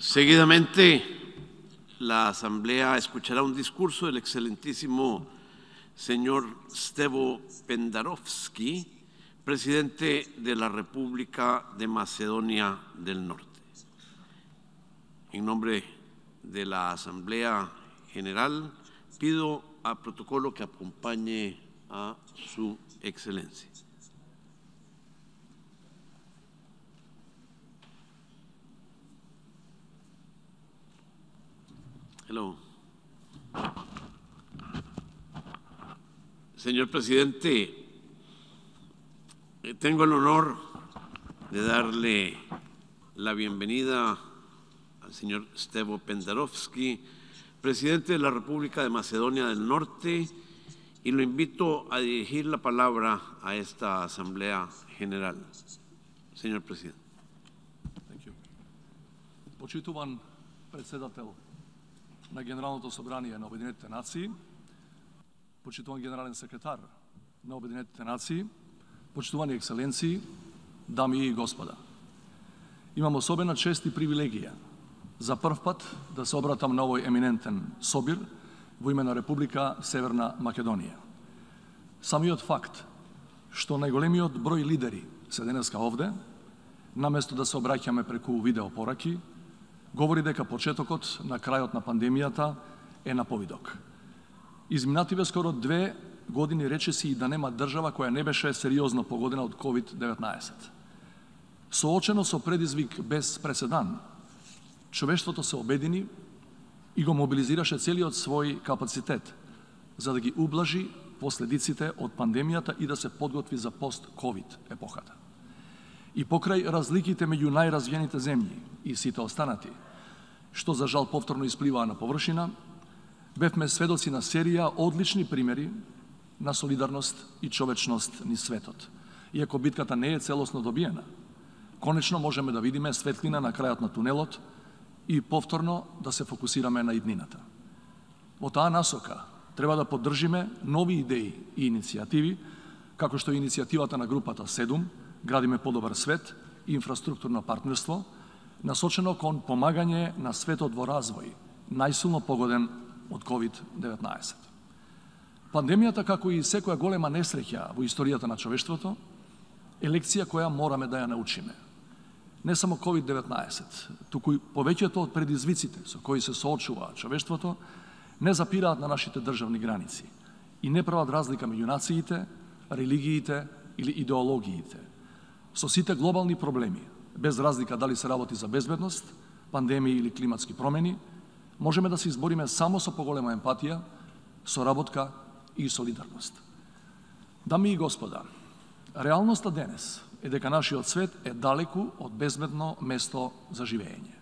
Seguidamente, la Asamblea escuchará un discurso del excelentísimo señor Stevo Pendarovski, presidente de la República de Macedonia del Norte. En nombre de la Asamblea General, pido a protocolo que acompañe a su excelencia. Hello. Señor presidente, tengo el honor de darle la bienvenida al señor Stevo Pendarovski, presidente de la República de Macedonia del Norte, y lo invito a dirigir la palabra a esta Asamblea General. Señor presidente. Thank you. Почитуван председател на Генералното собрание на Обединетите нации, почитуван генерален секретар на Обединетите нации, почитувани екселенции, дами и господа. Имам особена чест и привилегија за прв пат да се обратам на овој еминентен собир во име на Република Северна Македонија. Самиот факт што најголемиот број лидери се денеска овде, наместо да се обраќаме преку видеопораки, говори дека почетокот на крајот на пандемијата е на повидок. Изминативе скоро 2 години речиси и да нема држава која не беше сериозно погодена од COVID-19. Соочено со предизвик без преседан, човештвото се обедини и го мобилизираше целиот свој капацитет за да ги ублажи последиците од пандемијата и да се подготви за пост-ковид епохата. И покрај разликите меѓу најразвиените земји и сите останати, што за жал повторно испливаа на површина, бевме сведоци на серија одлични примери на солидарност и човечност низ светот. Иако битката не е целосно добиена, конечно можеме да видиме светлина на крајот на тунелот и повторно да се фокусираме на иднината. Во таа насока треба да поддржиме нови идеи и иницијативи, како што е иницијативата на групата 7, Градиме подобар свет и инфраструктурно партнерство, насочено кон помагање на светот во развој, најсилно погоден од COVID-19. Пандемијата, како и секоја голема несреќа во историјата на човештвото, е лекција која мораме да ја научиме. Не само COVID-19, туку и повеќето од предизвиците со кои се соочува човештвото, не запираат на нашите државни граници и не прават разлика меѓу нациите, религиите или идеологиите. Со сите глобални проблеми, без разлика дали се работи за безбедност, пандемии или климатски промени, можеме да се избориме само со поголема емпатија, соработка и солидарност. Дами и господа, реалноста денес е дека нашиот свет е далеку од безбедно место за живење.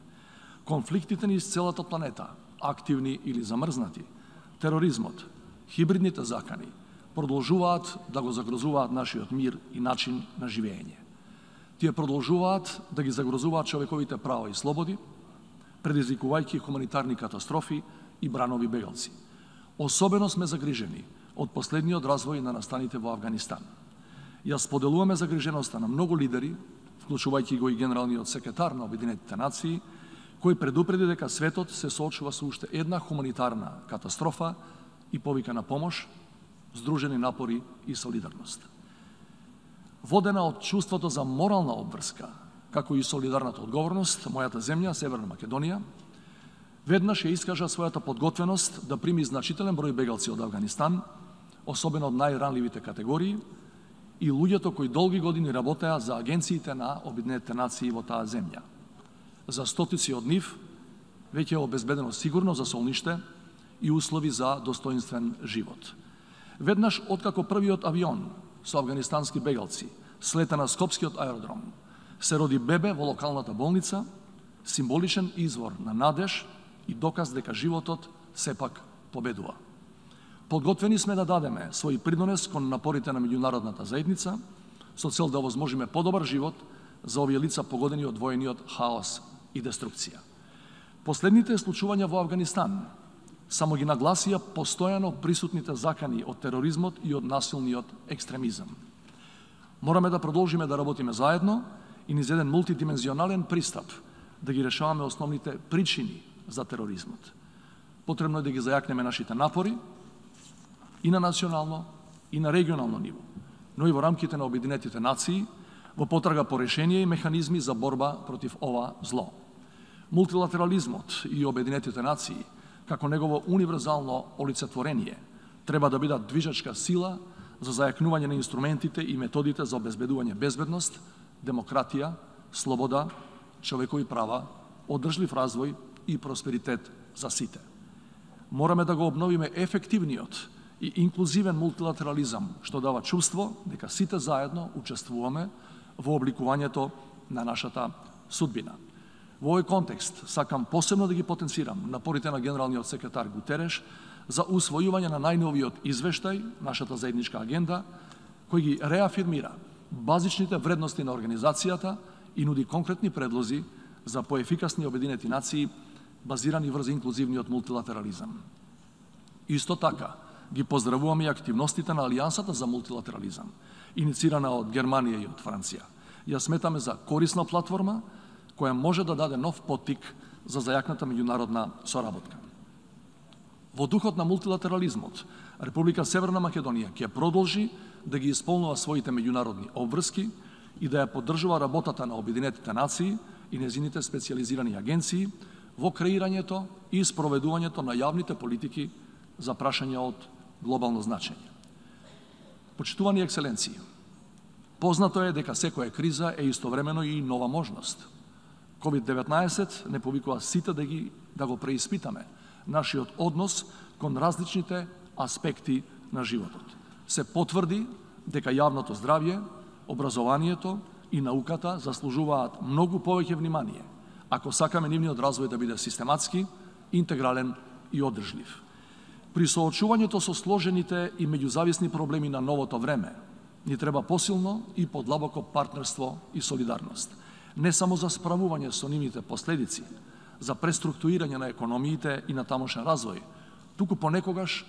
Конфликтите низ целата планета, активни или замрзнати, тероризмот, хибридните закани, продолжуваат да го загрозуваат нашиот мир и начин на живење. Тие продолжуваат да ги загрозуваат човековите права и слободи, предизвикувајќи хуманитарни катастрофи и бранови бегалци. Особено сме загрижени од последниот развој на настаните во Авганистан. Ја споделуваме загриженоста на многу лидери, вклучувајќи го и генералниот секретар на Обединетите нации, кој предупреди дека светот се соочува со уште една хуманитарна катастрофа и повика на помош, здружени напори и солидарност. Водена од чувството за морална обврска, како и солидарната одговорност, мојата земја, Северна Македонија, веднаш ја искажа својата подготвеност да прими значителен број бегалци од Авганистан, особено од најранливите категории, и луѓето кои долги години работеа за агенциите на Обединетите нации во таа земја. За стотици од нив веќе е обезбедено сигурно за солниште и услови за достоинствен живот. Веднаш откако првиот авион со афганистански бегалци слета на Скопскиот аеродром, се роди бебе во локалната болница, символичен извор на надеж и доказ дека животот сепак победува. Подготвени сме да дадеме свој придонес кон напорите на меѓународната заедница со цел да овозможиме подобар живот за овие лица погодени од воениот хаос и деструкција. Последните случувања во Авганистан само ги нагласија постојано присутните закани од тероризмот и од насилниот екстремизам. Мораме да продолжиме да работиме заедно и низ еден мултидимензионален пристап да ги решаваме основните причини за тероризмот. Потребно е да ги зајакнеме нашите напори и на национално и на регионално ниво, но и во рамките на Обединетите нации во потрага по решение и механизми за борба против ова зло. Мултилатерализмот и Обединетите нации, како негово универзално олицетворение, треба да бидат движачка сила за зајакнување на инструментите и методите за обезбедување безбедност, демократија, слобода, човекови права, одржлив развој и просперитет за сите. Мораме да го обновиме ефективниот и инклузивен мултилатерализам, што дава чувство дека сите заедно учествуваме во обликувањето на нашата судбина. Во овој контекст сакам посебно да ги потенцирам напорите на генералниот секретар Гутереш за усвојување на најновиот извештај, нашата заедничка агенда, кој ги реафирмира базичните вредности на организацијата и нуди конкретни предлози за поефикасни Обединети нации базирани врз инклузивниот мултилатерализам. Исто така, ги поздравуваме и активностите на Алијансата за мултилатерализам, иницирана од Германија и од Франција. Ја сметаме за корисна платформа која може да даде нов поттик за зајакната меѓународна соработка. Во духот на мултилатерализмот, Република Северна Македонија ќе продолжи да ги исполнува своите меѓународни обврски и да ја поддржува работата на Обединетите нации и незините специјализирани агенции во креирањето и спроведувањето на јавните политики за прашања од глобално значење. Почитувани екселенции, познато е дека секоја криза е истовремено и нова можност. COVID-19 не повикува сите да го преиспитаме нашиот однос кон различните аспекти на животот. Се потврди дека јавното здравје, образованието и науката заслужуваат многу повеќе внимание, ако сакаме нивниот развој да биде систематски, интегрален и одржлив. При соочувањето со сложените и меѓузависни проблеми на новото време, ни треба посилно и подлабоко партнерство и солидарност. Не само за справување со нивните последици, за преструктурирање на економиите и на тамошен развој, туку понекогаш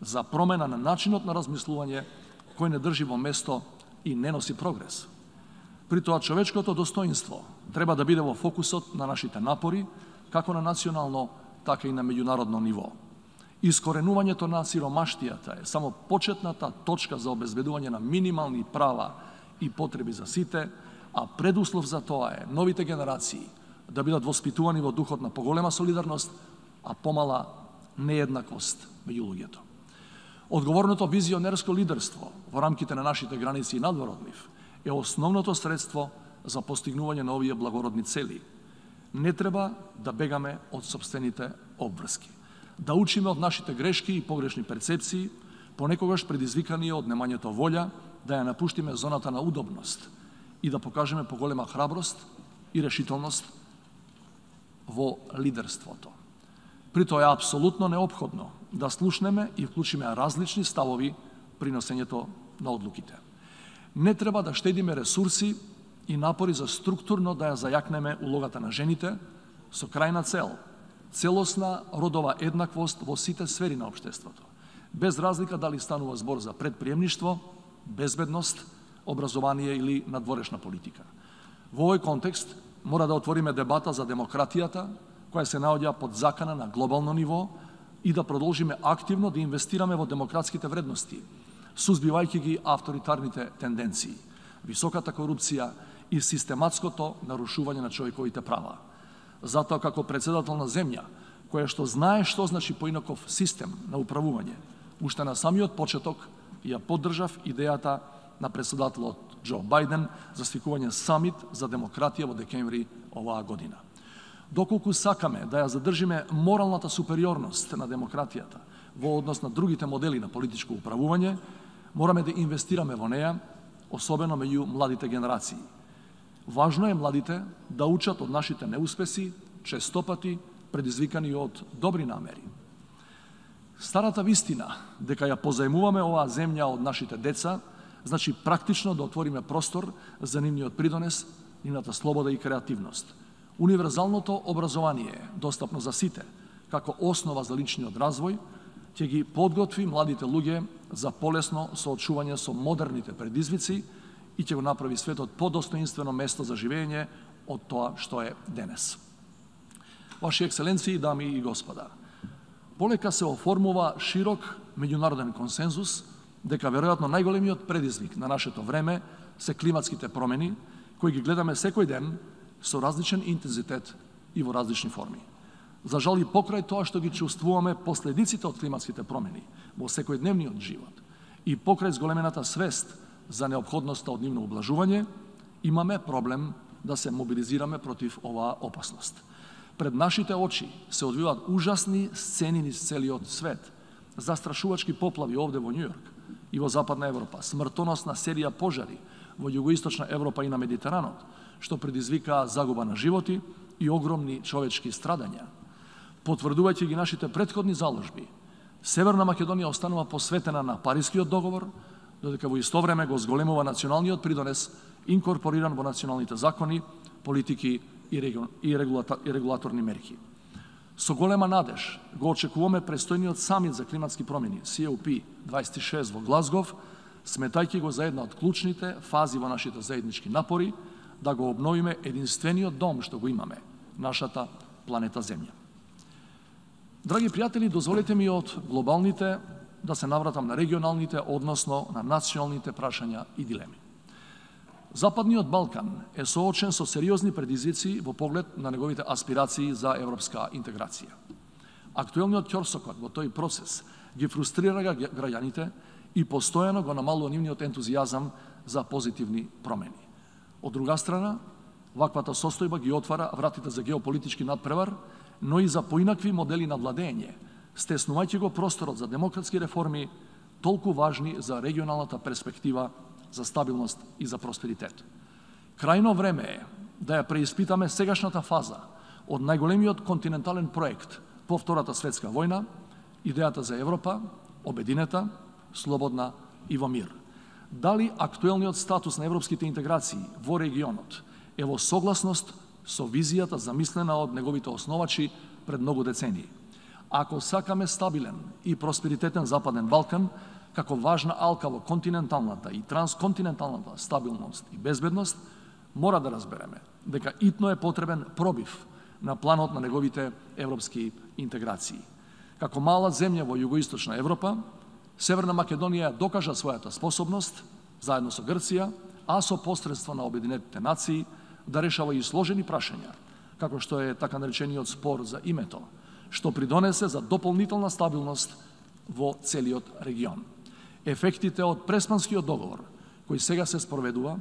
за промена на начинот на размислување кој не држи во место и не носи прогрес. При тоа човечкото достоинство треба да биде во фокусот на нашите напори, како на национално, така и на меѓународно ниво. Искоренувањето на сиромаштијата е само почетната точка за обезбедување на минимални права и потреби за сите, а предуслов за тоа е новите генерации да бидат воспитувани во духот на поголема солидарност, а помала нееднаквост меѓу луѓето. Одговорното визионерско лидерство во рамките на нашите граници и надвор од нив е основното средство за постигнување на овие благородни цели. Не треба да бегаме од сопствените обврски, да учиме од нашите грешки и погрешни перцепции, понекогаш предизвикани од немањето волја да ја напуштиме зоната на удобност и да покажеме поголема храброст и решителност во лидерството. При тоа е апсолутно неопходно да слушнеме и вклучиме различни ставови при носењето на одлуките. Не треба да штедиме ресурси и напори за структурно да ја зајакнеме улогата на жените со крајна цел целосна родова еднаквост во сите сфери на општеството, без разлика дали станува збор за предприемништво, безбедност, образование или надворешна политика. Во овој контекст мора да отвориме дебата за демократијата, која се наоѓа под закана на глобално ниво и да продолжиме активно да инвестираме во демократските вредности, сузбивајќи ги авторитарните тенденции, високата корупција и систематското нарушување на човековите права. Затоа, како председател на земја, која што знае што значи поинаков систем на управување, уште на самиот почеток ја поддржав идејата на председателот Џо Бајден за свикување самит за демократија во декември оваа година. Доколку сакаме да ја задржиме моралната супериорност на демократијата во однос на другите модели на политичко управување, мораме да инвестираме во неја, особено меѓу младите генерации. Важно е младите да учат од нашите неуспеси, честопати предизвикани од добри намери. Старата вистина дека ја позајмуваме оваа земја од нашите деца, значи практично да отвориме простор за нивниот придонес, нивната слобода и креативност. Универзалното образование, достапно за сите, како основа за личниот развој, ќе ги подготви младите луѓе за полесно соочување со модерните предизвици и ќе го направи светот подостоинствено место за живење од тоа што е денес. Ваши екселенции, дами и господа, полека се оформува широк меѓународен консензус дека веројатно најголемиот предизвик на нашето време се климатските промени, кои ги гледаме секој ден со различен интензитет и во различни форми. За жал и покрај тоа што ги чувствуваме последиците од климатските промени во секојдневниот живот и покрај зголемената свест за неопходноста од нивно облажување, имаме проблем да се мобилизираме против оваа опасност. Пред нашите очи се одвиваат ужасни сцени низ целиот свет, застрашувачки поплави овде во Њујорк и во Западна Европа, смртоносна серија пожари во Југоисточна Европа и на Медитеранот, што предизвикаа загуба на животи и огромни човечки страдања. Потврдувајќи ги нашите претходни заложби, Северна Македонија останува посветена на Парискиот договор, додека во исто време го зголемува националниот придонес, инкорпориран во националните закони, политики и регулаторни мерки. Со голема надеж го очекуваме престојниот самит за климатски промени, COP26 во Глазгов, сметајќи го за една од клучните фази во нашите заеднички напори да го обновиме единствениот дом што го имаме, нашата планета Земја. Драги пријатели, дозволете ми од глобалните да се навратам на регионалните, односно на националните прашања и дилеми. Западниот Балкан е соочен со сериозни предизвици во поглед на неговите аспирации за европска интеграција. Актуелниот ќорсокот во тој процес ги фрустрира граѓаните и постојано го намалува нивниот ентузијазам за позитивни промени. Од друга страна, ваквата состојба ги отвара вратите за геополитички надпревар, но и за поинакви модели на владење, стеснувајќи го просторот за демократски реформи, толку важни за регионалната перспектива, за стабилност и за просперитет. Крајно време е да ја преиспитаме сегашната фаза од најголемиот континентален проект по Втората светска војна, идејата за Европа, обединета, слободна и во мир. Дали актуелниот статус на европските интеграции во регионот е во согласност со визијата замислена од неговите основачи пред многу децении? Ако сакаме стабилен и просперитетен Западен Балкан, како важна алка во континенталната и трансконтиненталната стабилност и безбедност, мора да разбереме дека итно е потребен пробив на планот на неговите европски интеграции. Како мала земја во Југоисточна Европа, Северна Македонија докажа својата способност, заедно со Грција, а со посредство на Обединетите нации, да решава и сложени прашања, како што е така наречениот спор за името, што придонесе за дополнителна стабилност во целиот регион. Ефектите од Преспанскиот договор, кој сега се спроведува,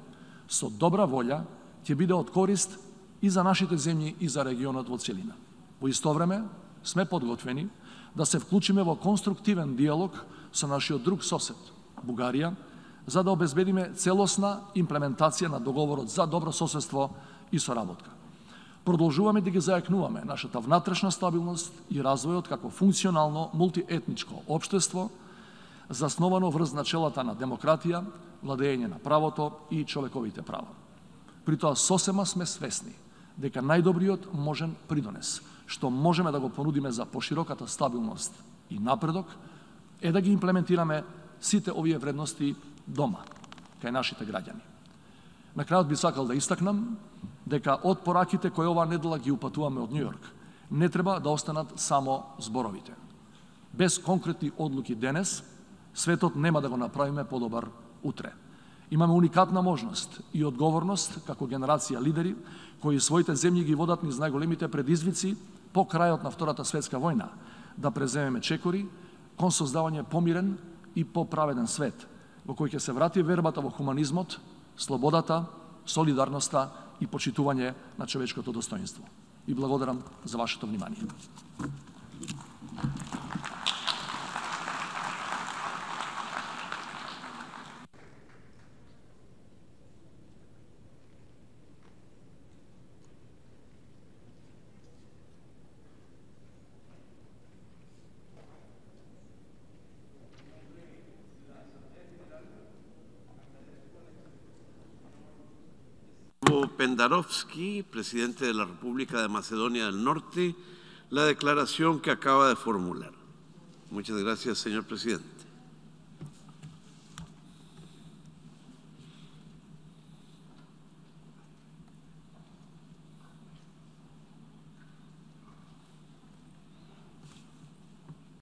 со добра волја, ќе биде од корист и за нашите земји и за регионот во целина. Во исто време, сме подготвени да се вклучиме во конструктивен диалог со нашиот друг сосед, Бугарија, за да обезбедиме целосна имплементација на договорот за добро соседство и соработка. Продолжуваме да ги зајакнуваме нашата внатрешна стабилност и развојот како функционално мултиетничко општество, засновано врз начелата на демократија, владење на правото и човековите права. При тоа сосема сме свесни дека најдобриот можен придонес, што можеме да го понудиме за пошироката стабилност и напредок, е да ги имплементираме сите овие вредности дома, кај нашите граѓани. На крајот би сакал да истакнам дека од пораките кои оваа недела ги упатуваме од Њујорк, не треба да останат само зборовите. Без конкретни одлуки денес, светот нема да го направиме подобар утре. Имаме уникатна можност и одговорност како генерација лидери кои своите земји ги водат низ најголемите предизвици по крајот на Втората светска војна, да преземеме чекори кон создавање помирен и поправеден свет, во кој ќе се врати вербата во хуманизмот, слободата, солидарноста и почитување на човечкото достоинство. И благодарам за вашето внимание. Pendarovski, presidente de la República de Macedonia del Norte, la declaración que acaba de formular. Muchas gracias, señor presidente.